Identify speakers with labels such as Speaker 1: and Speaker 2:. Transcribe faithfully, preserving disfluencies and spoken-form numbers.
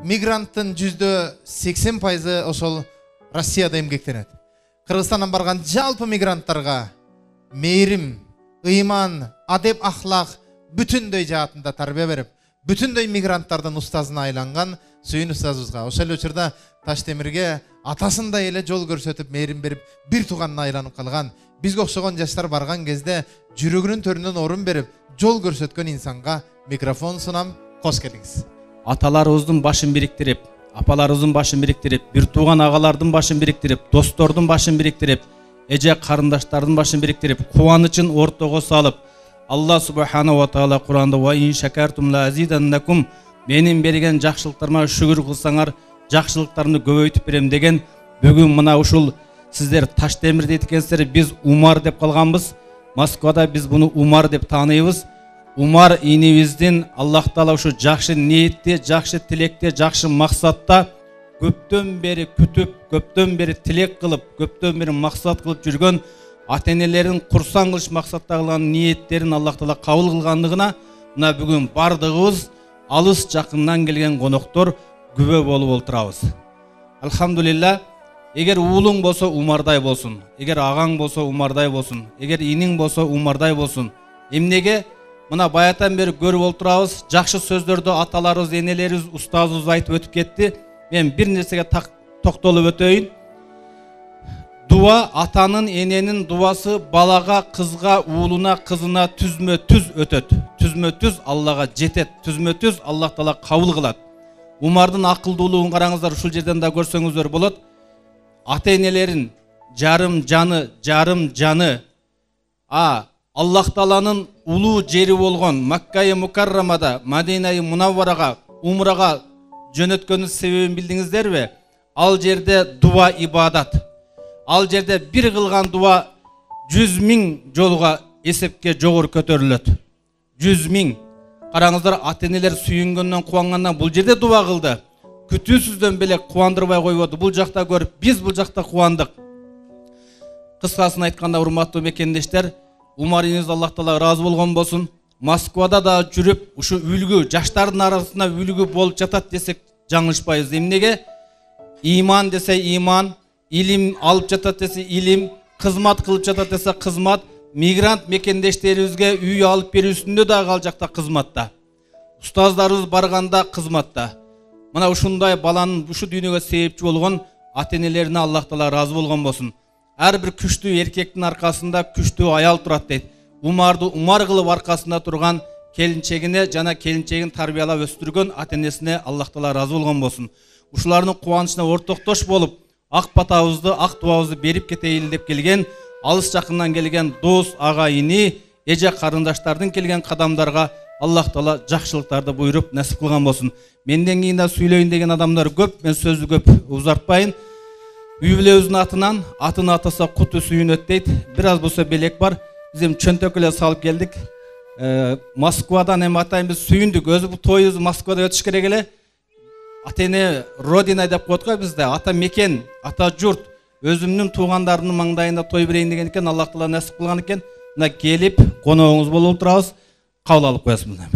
Speaker 1: мигранттын жүздө сексен пайызы ошол Россияда эмгектенет. Кыргызстандан барган жалпы мигранттарга мейрим, ыйман, адеп, ахлак бүтүндөй жаатында тарбия берип, бүтүндөй мигранттардын устазына айланган сүйүн устазыбызга, ошол эле учурда Таштемирге атасындай эле жол көрсөтүп, мейрим берип, бир тууганына айланып калган, бизге окшогон жаштар барган кезде жүрөгүнүн төрүнөн орун берип, жол көрсөткөн инсанга микрофон сунам. Кош келиңиз.
Speaker 2: Аталарыбыздын башын бириктирип, апаларыбыздын башын бириктирип, бир тууган агалардын башын бириктирип, достордун башын бириктирип, эже карындаштардын башын бириктирип, кубанычын ортого салып, Алла субхана ва таала Куранда ва ин шакартум ла азиданнакум, менин берген жакшылыктарыма шүгүр кылсаңар, жакшылыктарымды көбөйтүп берем деген. Бүгүн мына ушул сиздер Таштемир дейт экенсиздер, биз Умар деп калганбыз. Москвада биз буну Умар деп тааныйбыз. Умар инибиздин Аллах таала ушу жакшы ниетте, жакшы тилекте, жакшы максатта көптөн бери күтүп, көптөн бери тилек кылып, көптөн бери максат кылып жүргөн ата-энелерин курсан кылыш максатта кылган ниеттерин Аллах таала кабыл кылгандыгына мына бүгүн бардыгыбыз алыс жакындан келген коноктор күбө болуп олтурабыз. Алхамдулилла, эгер уулуң болсо Умардай болсун, эгер агаң болсо Умардай болсун, эгер иниң болсо Умардай болсун. Эмнеге? Мына баятан бери көрүп олтурабыз, жакшы сөздөрдү аталарыбыз, энелерибиз, устазыбыз айтып өтүп кетти. Мен бир нерсеге токтолуп өтөйүн. Дуа, атанын, эненин дуасы балага, кызга, уулуна, кызына түзмө түз өтөт. Түзмө түз Аллага жетет. Түзмө түз Аллах таала кабыл кылат. Умардын акылдуулугун караңыздар, ушул жерден да көрсөңүздөр болот. Ата-энелерин жарым жаны, жарым жаны, а Аллах тааланын улуу жери болгон Макка-й Мукаррамада, Мадина-й Мунавварага, умрага жөнөткөнүн себебин билдиңиздерби? Ал жерде дуа ибадат. Ал жерде бир кылган дуа жүз миң жолга эсепке жогору көтөрүлөт. жүз миң. Караңыздар, ата-энелер сүйүнгөндөн, кубангандан бул жерде дуа кылды. Күтүүсүздөн белек кубандырбай койбоду. Бул жакта көрүп, биз бул жакта кубандык. Кыскасын айтканда, урматтуу мекендештер, Умар инибиз Аллах таала ыраазы болгон болсун. Москвада да жүрүп, ушу үлгү, жаштардын арасында үлгү болуп жатат десек жаңылышпайбыз. Эмнеге? Иман десе иман, илим алып жатат десе илим, кызмат кылып жатат десе кызмат, мигрант мекендештерибизге үй алып берүүсүндө да ал жакта кызматта. Устаздарыбыз барганда кызматта. Мына ушундай баланын ушу дүйнөгө себепчи болгон ата-энелерине Аллах таала ыраазы болгон болсун. Ар бир күчтүү эркектин аркасында күчтүү аял турат дейт. Умарды Умар кылып аркасында турган келинчегине жана келинчегин тарбиялап өстүргөн ата-энесине Аллах таала ыраазы болгон болсун. Ушулардын кубанычына ортоктош болуп, ак батабызды, ак дуабызды берип кетейин деп келген, алыс жакындан келген дос, ага, ини, эже карындаштардын келген кадамдарга Аллах таала жакшылыктарды буйруп насип кылган болсун. Менден кийин да сүйлөйүн деген адамдар көп, мен сөздү көп узартпайын. Үй бүлөбүздүн атынан, атын атаса куту сүйүнөт дейт. Бир аз болсо белек бар. Биз эми чөнтөк эле салып келдик. Москвадан эми атайын биз сүйүндүк. Өзү бул тойубузду Москвада өтүш керек эле. Ата-эне родина деп коет го бизде. Ата мекен, ата журт. Өзүмдүн туугандарымдын маңдайында той берейин деген экен, Аллах таала насип кылган экен. Мына келип, коногуңуз болуп турабыз. Кабыл алып коесуздар.